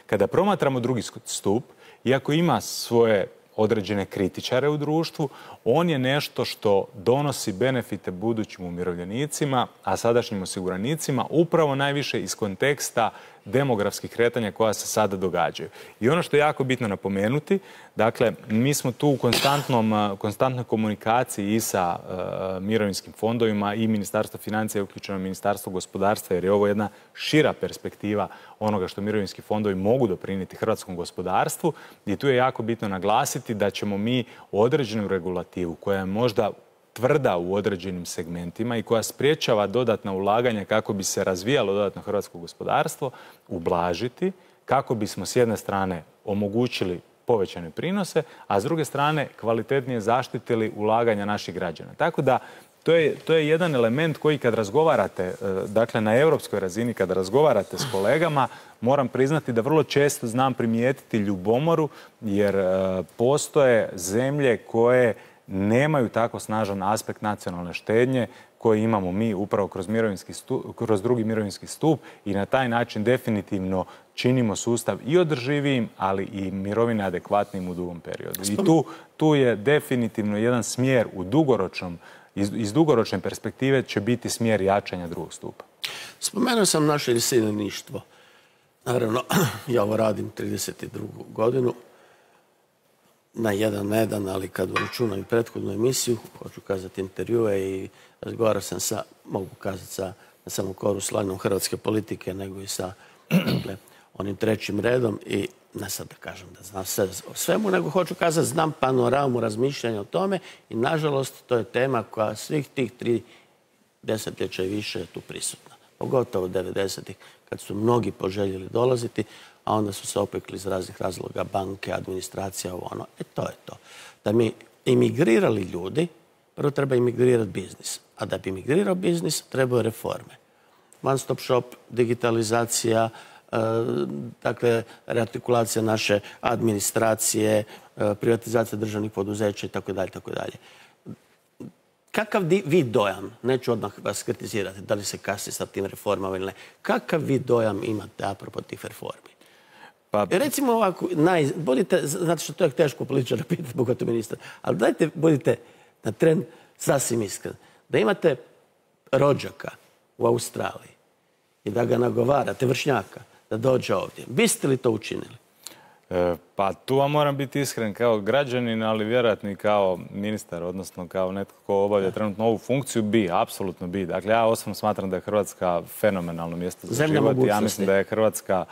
kada promatramo drugi stup, iako ima svoje određene kritičare u društvu, on je nešto što donosi benefite budućim umirovljenicima, a sadašnjim osiguranicima, upravo najviše iz konteksta demografskih kretanja koja se sada događaju. I ono što je jako bitno napomenuti, dakle, mi smo tu u konstantnoj komunikaciji i sa mirovinskim fondovima i Ministarstvo financija je uključeno Ministarstvo gospodarstva, jer je ovo jedna šira perspektiva onoga što mirovinski fondovi mogu doprinijeti hrvatskom gospodarstvu. I tu je jako bitno naglasiti da ćemo mi određenu regulativu koja je možda tvrda u određenim segmentima i koja sprječava dodatna ulaganja kako bi se razvijalo dodatno hrvatsko gospodarstvo, ublažiti kako bismo s jedne strane omogućili povećane prinose, a s druge strane kvalitetnije zaštitili ulaganja naših građana. Tako da to je jedan element koji kad razgovarate, dakle na europskoj razini, kada razgovarate s kolegama, moram priznati da vrlo često znam primijetiti ljubomoru, jer postoje zemlje koje nemaju tako snažan aspekt nacionalne štednje koji imamo mi upravo kroz drugi mirovinski stup i na taj način definitivno činimo sustav i održivijim, ali i mirovine adekvatnim u dugom periodu. I tu je definitivno jedan smjer iz dugoročne perspektive će biti smjer jačanja drugog stupa. Spomenuo sam naše iseljeništvo. Naravno, ja ovo radim 32. godinu. Na jedan, ali kad uračunam i prethodnu emisiju, hoću kazati intervjue i razgovarao sam sa, mogu kazati, ne samo koru slanom hrvatske politike, nego i sa onim trećim redom i ne sad da kažem da znam sve o svemu, nego hoću kazati znam panoramu razmišljanja o tome i nažalost to je tema koja svih tih 3 desetljeća i više je tu prisutna. Pogotovo 90-ih kad su mnogi poželjeli dolaziti, a onda su se opekli iz raznih razloga, banke, administracija, ovo ono. To je to. Da mi imigrirali ljudi, prvo treba imigrirati biznis. A da bi imigrirao biznis, trebaju reforme. One stop shop, digitalizacija, dakle, reartikulacija naše administracije, privatizacija državnih poduzeća itd. Kakav vi dojam, neću odmah vas kritizirati, da li se kasni sa tim reformama ili ne, kakav vi dojam imate apropo tih reformi? Pa, recimo ovako, budite, znate što to je teško političara pitati, pogotovo ministra, ali dajte, budite na tren sasvim iskren. Da imate rođaka u Australiji i da ga nagovarate, vršnjaka, da dođe ovdje. Biste li to učinili? Pa tu vam moram biti iskren kao građanin, ali vjerojatno i kao ministar, odnosno kao netko ko obavlja trenutno ovu funkciju, apsolutno bi. Dakle, ja osobno smatram da je Hrvatska fenomenalno mjesto za život. Ja mislim da je Hrvatska,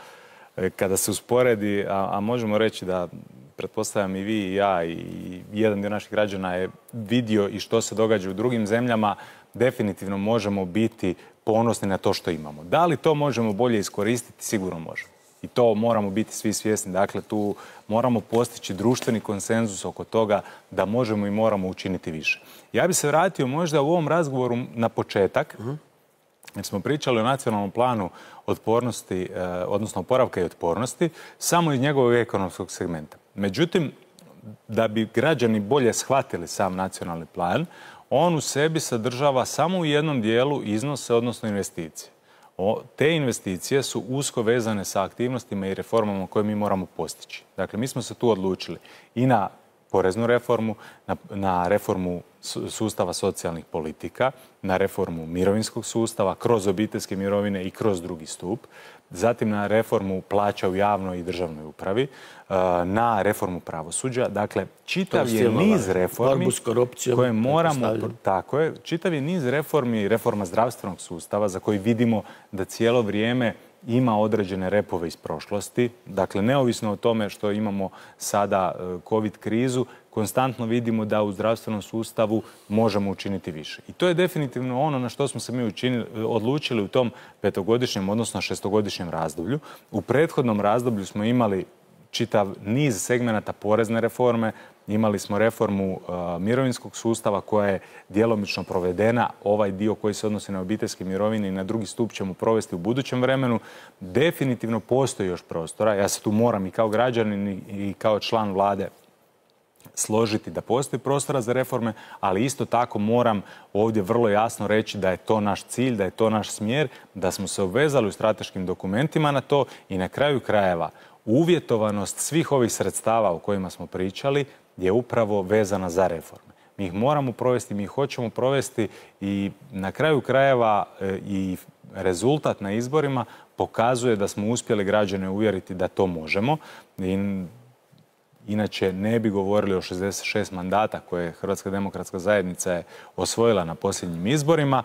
kada se usporedi, a možemo reći da, pretpostavljam i vi i ja i jedan dio naših građana je vidio i što se događa u drugim zemljama, definitivno možemo biti ponosni na to što imamo. Da li to možemo bolje iskoristiti? Sigurno možemo. I to moramo biti svi svjesni. Dakle, tu moramo postići društveni konsenzus oko toga da možemo i moramo učiniti više. Ja bih se vratio možda u ovom razgovoru na početak, jer smo pričali o nacionalnom planu otpornosti, odnosno oporavka i otpornosti, samo iz njegovog ekonomskog segmenta. Međutim, da bi građani bolje shvatili sam nacionalni plan, on u sebi sadržava samo u jednom dijelu iznose, odnosno investicije. Te investicije su usko vezane sa aktivnostima i reformama koje mi moramo postići. Dakle, mi smo se tu odlučili i na poreznu reformu, na reformu sustava socijalnih politika, na reformu mirovinskog sustava kroz obiteljske mirovine i kroz drugi stup, zatim na reformu plaća u javnoj i državnoj upravi, na reformu pravosuđa. Dakle, čitav je niz reformi koje moramo... Tako je, čitav je niz reformi, reforma zdravstvenog sustava za koji vidimo da cijelo vrijeme ima određene repove iz prošlosti. Dakle, neovisno o tome što imamo sada COVID krizu, konstantno vidimo da u zdravstvenom sustavu možemo učiniti više. I to je definitivno ono na što smo se mi odlučili u tom 5-godišnjem, odnosno 6-godišnjem razdoblju. U prethodnom razdoblju smo imali čitav niz segmenata porezne reforme, imali smo reformu mirovinskog sustava koja je djelomično provedena. Ovaj dio koji se odnosi na obiteljske mirovine i na drugi stup ćemo provesti u budućem vremenu. Definitivno postoji još prostora. Ja se tu moram i kao građanin i kao član vlade složiti da postoji prostora za reforme, ali isto tako moram ovdje vrlo jasno reći da je to naš cilj, da je to naš smjer, da smo se obvezali u strateškim dokumentima na to i na kraju krajeva uvjetovanost svih ovih sredstava o kojima smo pričali je upravo vezana za reforme. Mi ih moramo provesti, mi ih hoćemo provesti i na kraju krajeva i rezultat na izborima pokazuje da smo uspjeli građane uvjeriti da to možemo. Inače, ne bi govorili o 66 mandata koje Hrvatska demokratska zajednica je osvojila na posljednjim izborima.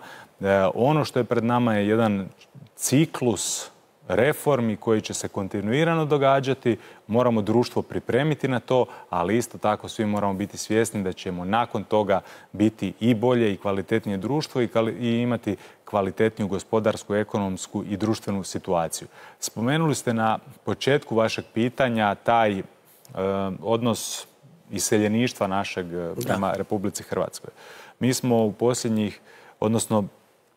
Ono što je pred nama je jedan ciklus reformi koji će se kontinuirano događati. Moramo društvo pripremiti na to, ali isto tako svi moramo biti svjesni da ćemo nakon toga biti i bolje i kvalitetnije društvo i imati kvalitetniju gospodarsku, ekonomsku i društvenu situaciju. Spomenuli ste na početku vašeg pitanja taj odnos iseljeništva našeg prema Republici Hrvatskoj. Mi smo u posljednjih, odnosno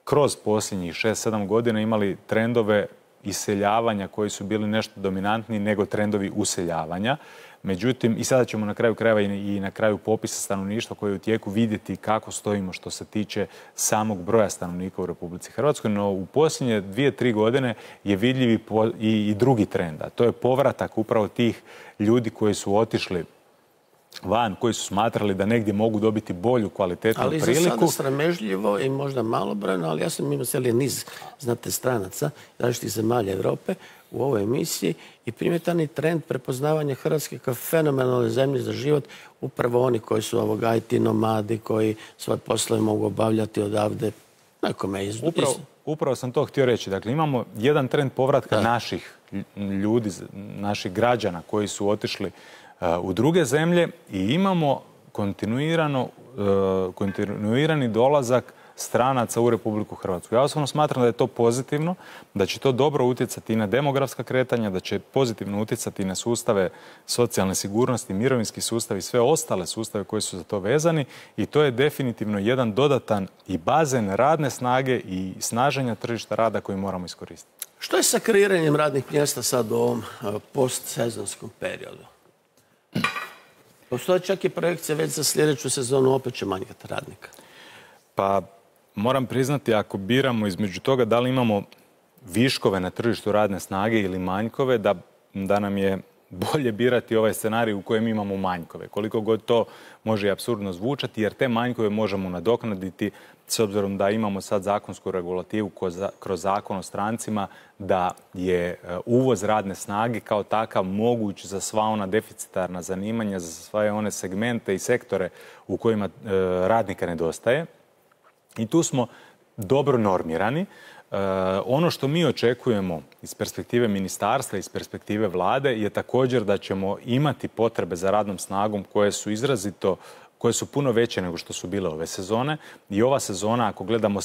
kroz posljednjih 6-7 godina imali trendove iseljavanja koji su bili nešto dominantniji nego trendovi useljavanja. Međutim, i sada ćemo na kraju krajeva i na kraju popisa stanovništva koji je u tijeku vidjeti kako stojimo što se tiče samog broja stanovnika u Republici Hrvatskoj, no u posljednje 2-3 godine je vidljiv i drugi trend, a to je povratak upravo tih ljudi koji su otišli van, koji su smatrali da negdje mogu dobiti bolju kvalitetnu priliku. Ali za sada sramežljivo i možda malobrojno, ali ja sam imao cijeli niz, znate, stranaca različitih zemalja Europe u ovoj emisiji i primjetan je trend prepoznavanja Hrvatske kao fenomenalne zemlje za život, upravo oni koji su IT nomadi, koji svoje poslove mogu obavljati odavde. Upravo sam to htio reći. Dakle, imamo jedan trend povratka naših ljudi, naših građana koji su otišli u druge zemlje i imamo kontinuirani dolazak stranaca u Republiku Hrvatsku. Ja osobno smatram da je to pozitivno, da će to dobro utjecati i na demografska kretanja, da će pozitivno utjecati i na sustave socijalne sigurnosti, mirovinski sustav i sve ostale sustave koji su za to vezani i to je definitivno jedan dodatan i bazen radne snage i snaženja tržišta rada koji moramo iskoristiti. Što je sa kreiranjem radnih mjesta sad u ovom postsezonskom periodu? Postoje čak i projekcije već za sljedeću sezonu, opet će manjkati radnika. Pa moram priznati, ako biramo između toga da li imamo viškove na tržištu radne snage ili manjkove, da nam je bolje birati ovaj scenarij u kojem imamo manjkove. Koliko god to može i apsurdno zvučati, jer te manjkove možemo nadoknaditi s obzirom da imamo sad zakonsku regulativu kroz zakon o strancima, da je uvoz radne snage kao takav moguć za sva ona deficitarna zanimanja, za sve one segmente i sektore u kojima radnika nedostaje. I tu smo dobro normirani. Ono što mi očekujemo iz perspektive ministarstva, iz perspektive vlade je također da ćemo imati potrebe za radnom snagom koje su puno veće nego što su bile ove sezone. I ova sezona, ako gledamo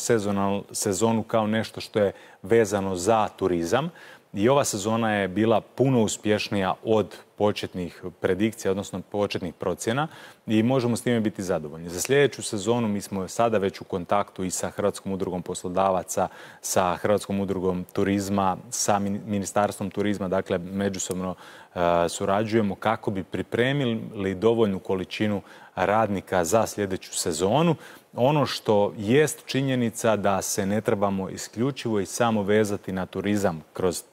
sezonu kao nešto što je vezano za turizam, i ova sezona je bila puno uspješnija od početnih predikcija, odnosno početnih procjena i možemo s time biti zadovoljni. Za sljedeću sezonu mi smo sada već u kontaktu i sa Hrvatskom udrugom poslodavaca, sa Hrvatskom udrugom turizma, sa Ministarstvom turizma, dakle međusobno surađujemo kako bi pripremili dovoljnu količinu radnika za sljedeću sezonu. Ono što jest činjenica da se ne trebamo isključivo i samo vezati na turizam kroz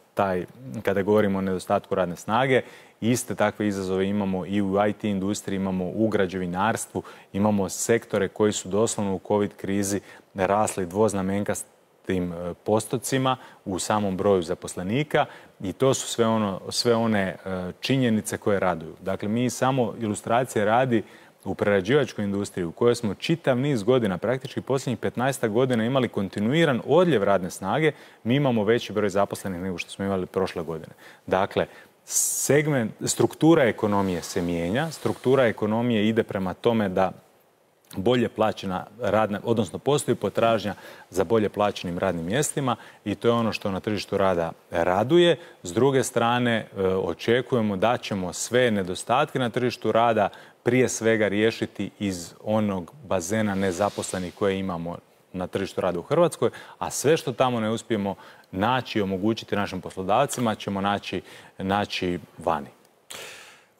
kada govorimo o nedostatku radne snage, iste takve izazove imamo i u IT industriji, imamo u građevinarstvu, imamo sektore koji su doslovno u COVID krizi rasli dvoznamenkastim postocima u samom broju zaposlenika i to su sve one činjenice koje raduju. Dakle, mi samo ilustracije radi u prerađivačkoj industriji u kojoj smo čitav niz godina, praktički posljednjih 15 godina imali kontinuiran odljev radne snage, mi imamo veći broj zaposlenih nego što smo imali prošle godine. Dakle, struktura ekonomije se mijenja, struktura ekonomije ide prema tome da bolje plaćena radna, odnosno postoji potražnja za bolje plaćenim radnim mjestima i to je ono što na tržištu rada raduje. S druge strane, očekujemo da ćemo sve nedostatke na tržištu rada prije svega riješiti iz onog bazena nezaposlenih koje imamo na tržištu rada u Hrvatskoj, a sve što tamo ne uspijemo naći i omogućiti našim poslodavcima ćemo naći vani.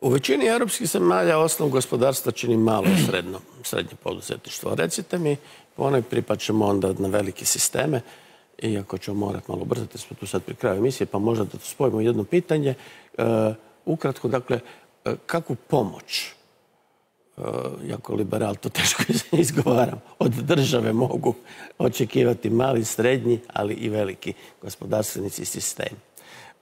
U većini europskih zemalja osnov gospodarstva čini malo i srednje poduzetništvo. Recite mi, ponajprije pa ćemo onda na velike sisteme, iako ćemo morati malo ubrzati, smo tu sad pri kraju emisije, pa možda da spojimo jedno pitanje. Ukratko, dakle, kakvu pomoć, jako liberal, to teško izgovaram, od države mogu očekivati mali, srednji, ali i veliki gospodarstvenici i sistemi?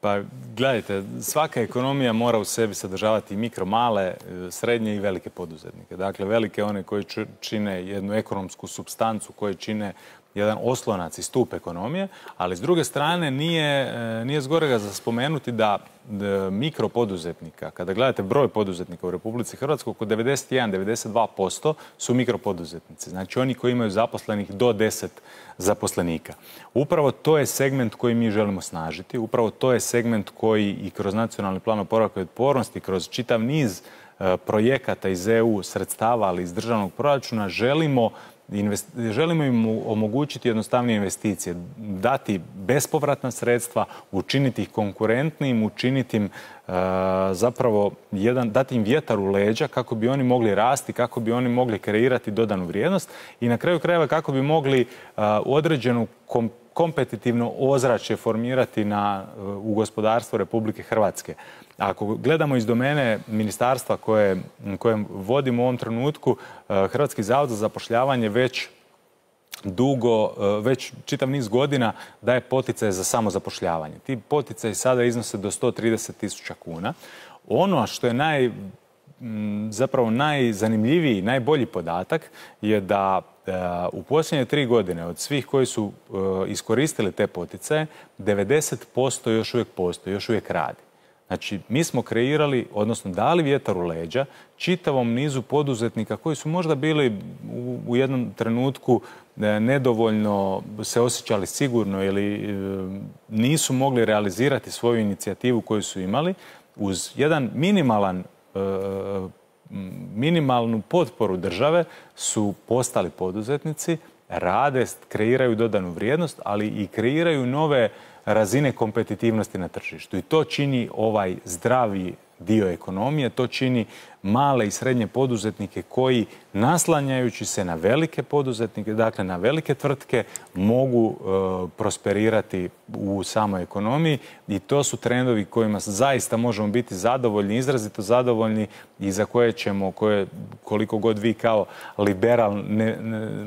Pa gledajte, svaka ekonomija mora u sebi sadržavati mikro, male, srednje i velike poduzetnike. Dakle, velike one koji čine jednu ekonomsku supstancu, koji čine jedan oslonac i stup ekonomije, ali s druge strane nije zgorega za spomenuti da mikropoduzetnika, kada gledate broj poduzetnika u Republici Hrvatskoj, oko 91-92% su mikropoduzetnici. Znači oni koji imaju zaposlenih do 10 zaposlenika. Upravo to je segment koji mi želimo snažiti, upravo to je segment koji i kroz Nacionalni plan oporavka i otpornosti, kroz čitav niz projekata iz EU sredstava, ali iz državnog proračuna želimo želimo im omogućiti jednostavnije investicije, dati bespovratna sredstva, učiniti ih konkurentnim, učiniti im zapravo dati im vjetar u leđa kako bi oni mogli rasti, kako bi oni mogli kreirati dodanu vrijednost i na kraju krajeva kako bi mogli određenu kompetitivno ozračje formirati u gospodarstvu Republike Hrvatske. Ako gledamo iz domene ministarstva koje vodimo u ovom trenutku, Hrvatski zavod za zapošljavanje već čitav niz godina daje poticaje za samozapošljavanje. Ti poticaji sada iznose do 130.000 kuna. Ono što je zapravo najzanimljiviji, najbolji podatak je da u posljednje 3 godine od svih koji su iskoristili te poticaje, 90% još uvijek postoji, još uvijek radi. Znači, mi smo kreirali, odnosno dali vjetar u leđa čitavom nizu poduzetnika koji su možda bili u jednom trenutku nedovoljno se osjećali sigurno ili nisu mogli realizirati svoju inicijativu koju su imali uz jedan minimalnu potporu države su postali poduzetnici, rade, kreiraju dodanu vrijednost, ali i kreiraju nove razine kompetitivnosti na tržištu. I to čini ovaj zdravi dio ekonomije, to čini male i srednje poduzetnike koji, naslanjajući se na velike poduzetnike, dakle na velike tvrtke, mogu prosperirati u samoj ekonomiji i to su trendovi kojima zaista možemo biti zadovoljni, izrazito zadovoljni i za koje ćemo, koliko god vi kao liberal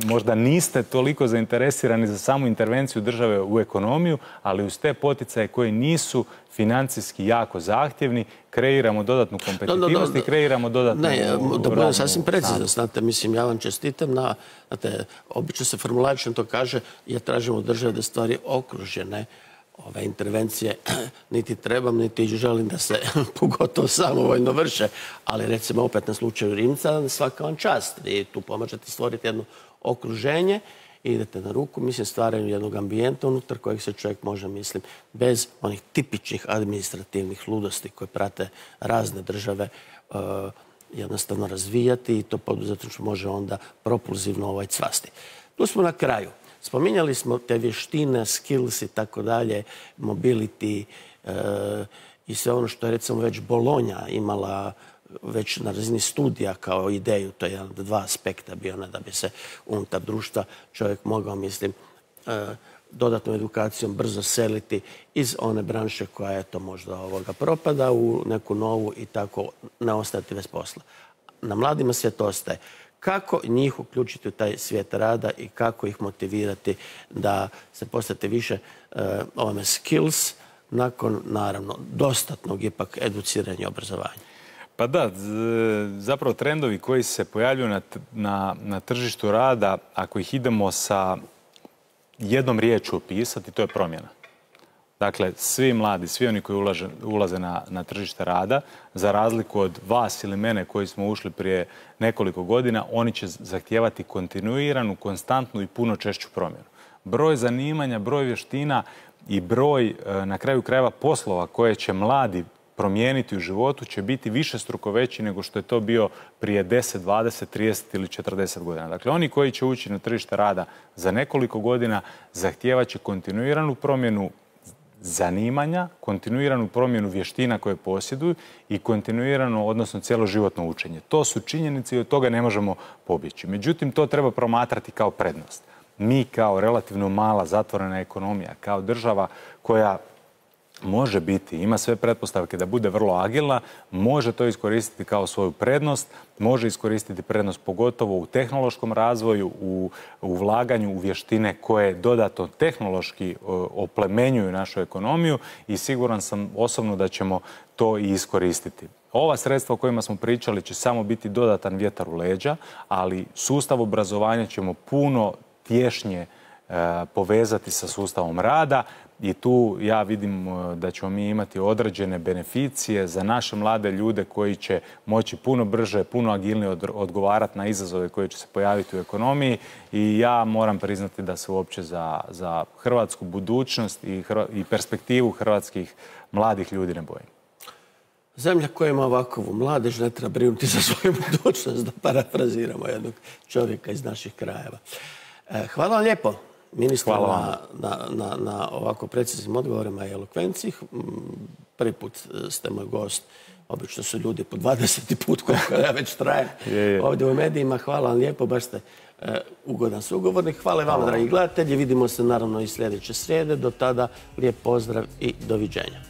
možda niste toliko zainteresirani za samu intervenciju države u ekonomiju, ali uz te poticaje koji nisu financijski jako zahtjevni, kreiramo dodatnu kompetitivnost i kreiramo dodatnu... Ne, da budem sasvim precizan, znate, mislim, ja vam čestitam znate, obično se formulačno to kaže, ja tražim od države da stvari okružene, ove intervencije niti trebam, niti želim da se pogotovo samovoljno vrše, ali recimo opet na slučaju Rimca svaka vam čast. Vi tu pomažete stvoriti jedno okruženje, idete na ruku, mislim, stvaranju jednog ambijenta unutar kojeg se čovjek može, mislim, bez onih tipičnih administrativnih ludosti koje prate razne države jednostavno razvijati i to poduzetništvo može onda propulzivno cvasti. Tu smo na kraju. Spominjali smo te vještine, skills i tako dalje, mobility i sve ono što je recimo već Bolonja imala već na razini studija kao ideju, to je jedan od 2 aspekta bio da bi se unutar društva čovjek mogao, mislim, dodatnom edukacijom brzo seliti iz one branše koja je to možda propada u neku novu i tako ne ostati bez posla. Na mladima svijet ostaje. Kako njih uključiti u taj svijet rada i kako ih motivirati da se postate više skills nakon, naravno, dostatnog ipak educiranja i obrazovanja? Pa da, zapravo trendovi koji se pojavljuju na tržištu rada, ako ih idemo sa jednom riječju opisati, to je promjena. Dakle, svi mladi, svi oni koji ulaze na tržište rada, za razliku od vas ili mene koji smo ušli prije nekoliko godina, oni će zahtijevati kontinuiranu, konstantnu i puno češću promjenu. Broj zanimanja, broj vještina i broj, na kraju krajeva, poslova koje će mladi promijeniti u životu će biti višestruko veći nego što je to bio prije 10, 20, 30 ili 40 godina. Dakle, oni koji će ući na tržište rada za nekoliko godina zahtijevat će kontinuiranu promjenu zanimanja, kontinuiranu promjenu vještina koje posjeduju i kontinuirano, odnosno cjeloživotno učenje. To su činjenice i od toga ne možemo pobjeći. Međutim, to treba promatrati kao prednost. Mi kao relativno mala zatvorena ekonomija, kao država koja može biti, ima sve pretpostavke da bude vrlo agilna, može to iskoristiti kao svoju prednost, može iskoristiti prednost pogotovo u tehnološkom razvoju, u ulaganju u vještine koje dodatno tehnološki oplemenjuju našu ekonomiju i siguran sam osobno da ćemo to i iskoristiti. Ova sredstva o kojima smo pričali će samo biti dodatan vjetar u leđa, ali sustav obrazovanja ćemo puno tješnje povezati sa sustavom rada i tu ja vidim da ćemo mi imati određene beneficije za naše mlade ljude koji će moći puno brže, puno agilnije odgovarati na izazove koji će se pojaviti u ekonomiji i ja moram priznati da se uopće za hrvatsku budućnost i perspektivu hrvatskih mladih ljudi ne bojim. Zemlja koja ima ovakvu mladež ne treba brinuti za svoju budućnost, da parafraziramo jednog čovjeka iz naših krajeva. Hvala vam lijepo, ministre, na ovako preciznim odgovorima i elokvenciji. Prvi put ste moj gost. Obično su ljudi po 20. put koliko ja već trajem ovdje u medijima. Hvala vam lijepo, baš ste ugodan sugovornik. Hvala i vama, dragi gledatelji. Vidimo se naravno i sljedeće srijede. Do tada lijep pozdrav i doviđenja.